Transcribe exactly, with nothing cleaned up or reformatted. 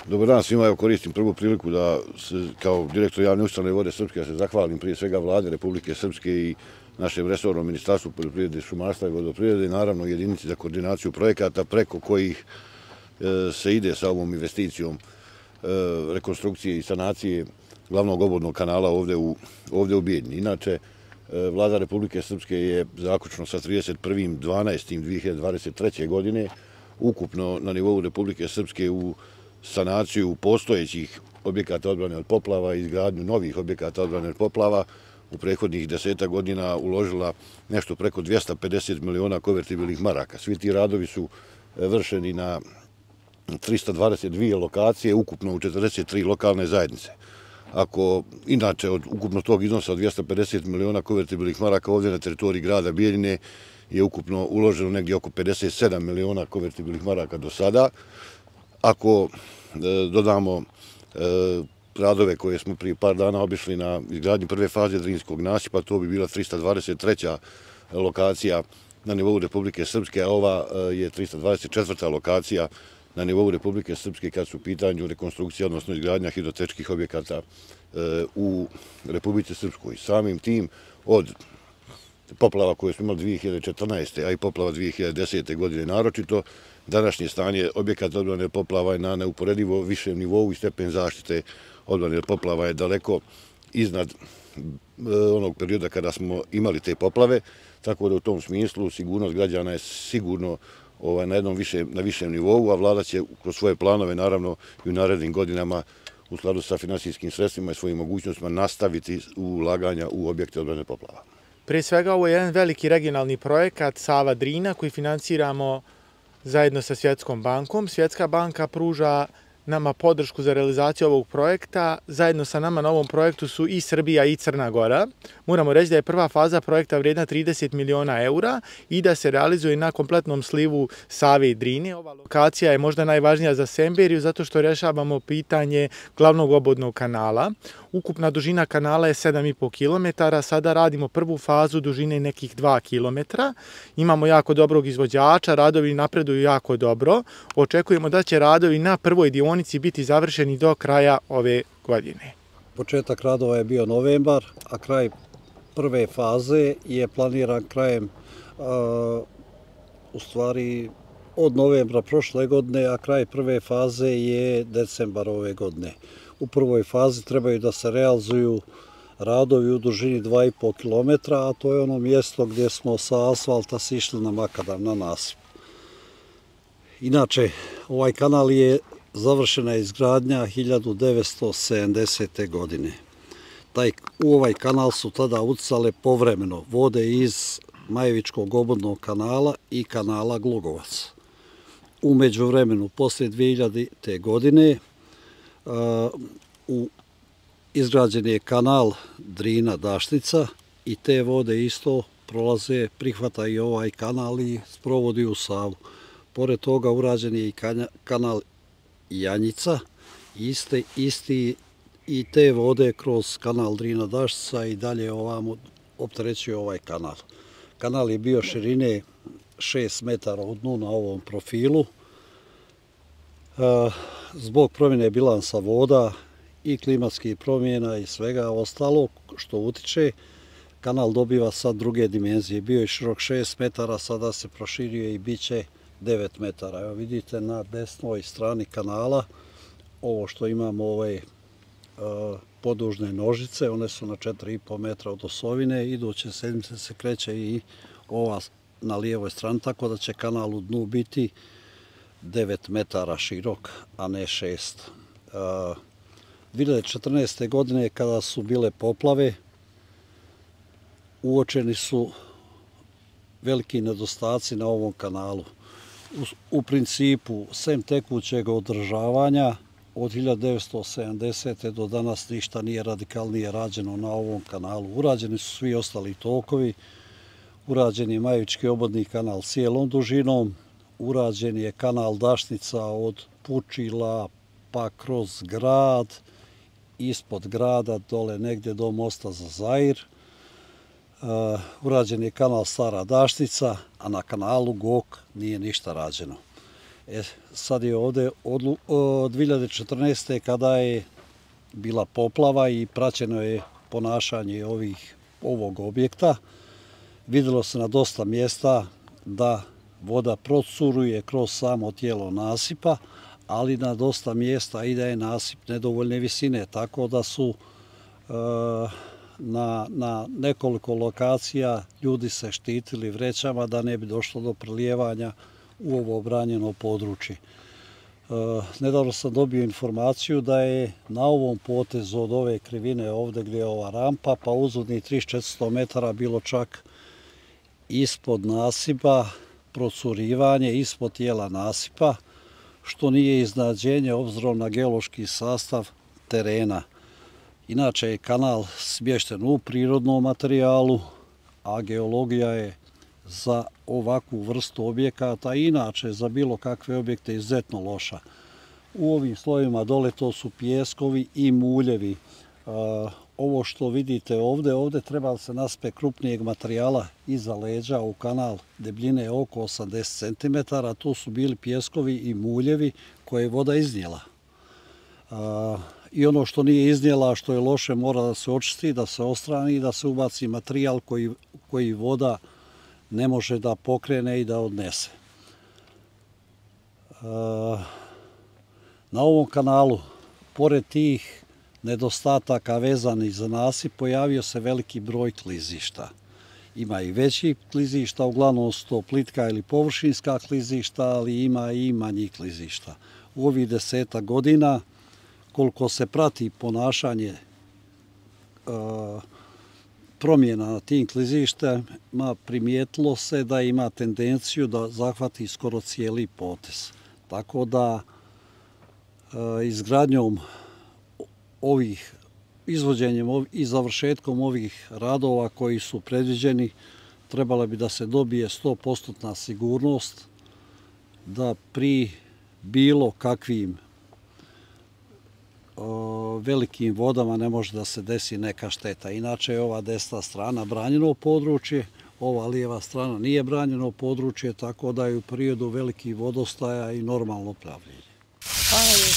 Dobar dan svima, evo koristim prvu priliku da se, kao direktor javne ustanove Vode Srpske, da se zahvalim prije svega Vlade Republike Srpske i našem resornom Ministarstvu poljoprivrede, šumarstva i vodoprivrede i naravno jedinici za koordinaciju projekata preko kojih se ide sa ovom investicijom rekonstrukcije i sanacije glavnog obodnog kanala ovde u, ovde u Bijeljini. Inače, Vlada Republike Srpske je zaključno sa trideset prvim dvanaestim dve hiljade dvadeset treće. godine ukupno na nivou Republike Srpske u sanaciju postojećih objekata odbrane od poplava i izgradnju novih objekata odbrane od poplava u prethodnih deseta godina uložila nešto preko dvesta pedeset miliona konvertibilnih maraka. Svi ti radovi su vršeni na trista dvadeset dvije lokacije, ukupno u četrdeset tri lokalne zajednice. Ako inače od ukupno tog iznosa od dvesta pedeset miliona konvertibilnih maraka ovdje na teritoriji grada Bijeljine je ukupno uloženo negdje oko pedeset sedam miliona konvertibilnih maraka do sada. Ako dodamo radove koje smo prije par dana obišli na izgradnji prve faze Drinskog nasipa, to bi bila trista dvadeset treća lokacija na nivou Republike Srpske, a ova je trista dvadeset četvrta lokacija na nivou Republike Srpske kad su u pitanju rekonstrukcija, odnosno izgradnja hidrotečkih objekata u Republici Srpskoj. Samim tim od poplava koje smo imali dve hiljade četrnaeste. a i poplava dve hiljade desete. godine naročito, današnje stanje objekata odbrane od poplava je na neuporedivo višem nivou i stepen zaštite odbrane od poplava je daleko iznad onog perioda kada smo imali te poplave, tako da u tom smislu sigurnost građana je sigurno na jednom višem, na višem nivou, a vlada će kroz svoje planove, naravno i u narednim godinama, u skladu sa finansijskim sredstvima i svojim mogućnostima, nastaviti ulaganja u objekte odbrane od poplava. Prije svega, ovo je jedan veliki regionalni projekat Sava-Drina koji financiramo zajedno sa Svjetskom bankom. Svjetska banka pruža nama podršku za realizaciju ovog projekta. Zajedno sa nama na ovom projektu su i Srbija i Crna Gora. Moramo reći da je prva faza projekta vrijedna trideset miliona eura i da se realizuje na kompletnom slivu Save i Drine. Ova lokacija je možda najvažnija za Semberiju zato što rješavamo pitanje glavnog obodnog kanala. Ukupna dužina kanala je sedam i po kilometara, sada radimo prvu fazu dužine nekih dva kilometra. Imamo jako dobrog izvođača, radovi napreduju jako dobro. Očekujemo da će radovi na prvoj dionici biti završeni do kraja ove godine. Početak radova je bio novembar, a kraj prve faze je planiran krajem, u stvari od novembra prošle godine, a kraj prve faze je decembar ove godine. U prvoj fazi trebaju da se realizuju radovi u dužini dva i po kilometra, a to je ono mjesto gdje smo sa asfalta sišli na makadam, na nasip. Inače, ovaj kanal je završena izgradnja hiljadu devetsto sedamdesete. godine. Taj, u ovaj kanal su tada ucale povremeno vode iz Majevičkog obodnog kanala i kanala Glogovac. U međuvremenu, poslije dve hiljadite. godine, u izgrađen je kanal Drina-Daštica i te vode isto prolaze, prihvata i ovaj kanal i sprovodi u Savu. Pored toga urađen je i kanal Janjica, iste, isti i te vode kroz kanal Drina-Daštica i dalje ovamo opterećuje ovaj kanal. Kanal je bio širine šest metara od dnu na ovom profilu. Zbog promjene bilansa voda i klimatskih promjena i svega ostalog što utiče, kanal dobiva sad druge dimenzije. Bio je širok šest metara, sada se proširio i bit će devet metara. Evo vidite na desnoj strani kanala ovo što imamo ove podužne nožice, one su na četiri i po metra od osovine, iduće sedmice se kreće i ova na lijevoj strani, tako da će kanal u dnu biti devet metara širok, a ne šest. dve hiljade četrnaeste. godine kada su bile poplave, uočeni su veliki nedostaci na ovom kanalu. U principu, sem tekućeg održavanja, od hiljadu devetsto sedamdesete. do danas ništa nije radikalnije rađeno na ovom kanalu. Urađeni su svi ostali tokovi, urađen je Majevički obodni kanal cijelom dužinom, urađen je kanal Dašnica od Pučila pa kroz grad, ispod grada, dole negdje do mosta za Zair. Urađen je kanal Stara Daštica, a na kanalu Gok nije ništa rađeno. E, sad je ovdje od dvije hiljade četrnaeste. kada je bila poplava i praćeno je ponašanje ovih, ovog objekta, vidjelo se na dosta mjesta da voda procuruje kroz samo tijelo nasipa, ali na dosta mjesta i da je nasip nedovoljne visine, tako da su e, na, na nekoliko lokacija ljudi se štitili vrećama da ne bi došlo do prelijevanja u ovo branjeno područje. E, nedavno sam dobio informaciju da je na ovom potezu od ove krivine ovdje gdje je ova rampa pa uzvodni tristo do četiristo metara bilo čak ispod nasipa, procurivanje ispod tijela nasipa, što nije iznenađenje obzirom na geološki sastav terena. Inače je kanal smješten u prirodnom materijalu, a geologija je za ovakvu vrstu objekata i inače za bilo kakve objekte izuzetno loša. U ovim slojevima dole to su pijeskovi i muljevi. Ovo što vidite ovdje, ovdje treba se naspe krupnijeg materijala iza leđa u kanal debljine oko osamdeset centimetara. To su bili pijeskovi i muljevi koje je voda iznijela. I ono što nije iznijela, što je loše, mora da se očisti, da se ostrani i da se ubaci materijal koji, koji voda ne može da pokrene i da odnese. Na ovom kanalu, pored tih nedostataka vezanih za nasip, pojavio se veliki broj klizišta. Ima i veći klizišta, uglavnom su to plitka ili površinska klizišta, ali ima i manjih klizišta. U ovih deseta godina, koliko se prati ponašanje e, promjena na tim klizištima, primijetilo se da ima tendenciju da zahvati skoro cijeli potez. Tako da e, izgradnjom ovih, izvođenjem i završetkom ovih radova koji su predviđeni, trebala bi da se dobije sto posto sigurnost da pri bilo kakvim o, velikim vodama ne može da se desi neka šteta. Inače je ova desna strana branjeno područje, ova lijeva strana nije branjeno područje, tako da je u periodu velikih vodostaja i normalno pravljenje. Hvala.